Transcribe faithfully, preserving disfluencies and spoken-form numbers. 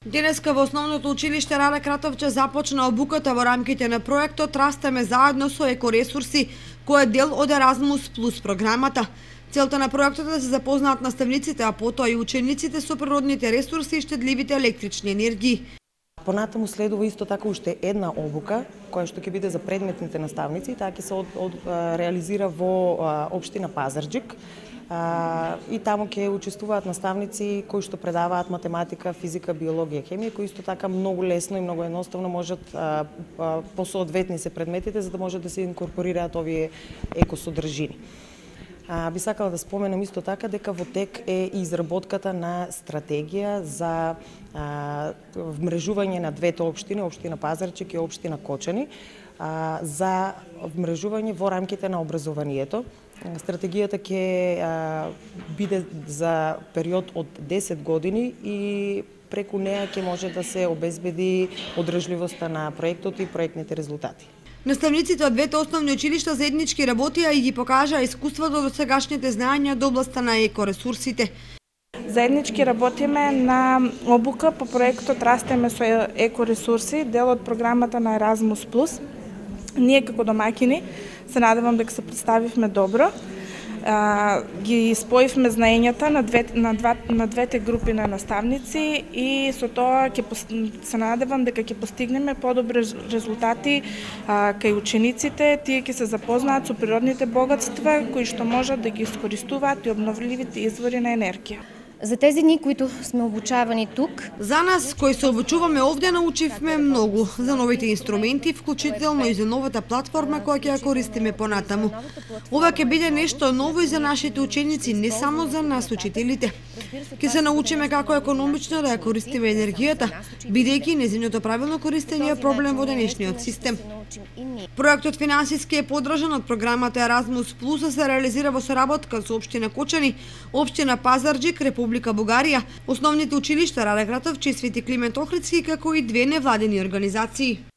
Денеска во Основното училиште Раде Кратовче започна обуката во рамките на проектот Растеме заедно со екоресурси, кој е дел од Еразмус плюс програмата. Целта на проектот е да се запознаат наставниците, а потоа и учениците со природните ресурси и штедливите електрични енергии. Понатаму следува исто така уште една обука, која што ќе биде за предметните наставници, таа ќе се од, од, реализира во општина Пазарџик. И таму ќе учествуваат наставници кои што предаваат математика, физика, биологија, хемија, кои исто така многу лесно и многу едноставно можат посоодветни се предметите за да можат да се инкорпорираат овие екосодржини. А, би сакала да споменам исто така дека во тек е изработката на стратегија за а, вмрежување на двете општини, општина Пазарџик и општина Кочани, а, за вмрежување во рамките на образованието. Стратегијата ќе биде за период од десет години и преку неа ќе може да се обезбеди одржливоста на проектот и проектните резултати. Наставниците од двете основни училишта заеднички работија и ги покажаа искуството од сегашните знаења од областа на екоресурсите. Заеднички работиме на обука по проектот Растеме со екоресурси, дел од програмата на Еразмус плюс. Ние како домаќини се надевам дека се представивме добро. А, ги споивме знаењата на, две, на, два, на двете групи на наставници и со тоа ќе се надевам дека ќе постигнеме подобри резултати а, кај учениците. Тие ќе се запознаат со природните богатства кои што можат да ги искористуваат и обновливите извори на енергија. За тези дни, които сме обучавани тук. За нас, кои се обучуваме овде, научивме многу за новите инструменти, вклучително и за новата платформа која ќе ја користиме понатаму. Ова ќе биде нешто ново и за нашите ученици, не само за нас учителите. Ќе се научиме како економично да ја користиме енергијата, бидејќи нејзиното правилно користење е проблем во денешниот систем. Проектот финансиски е поддржан од програмата Еразмус плюс, се реализира во соработка со општина Кочани, општина Пазарџик, Република Бугарија, основните училишта Раде Кратовче и Свети Климент Охридски, како и две невладени организации.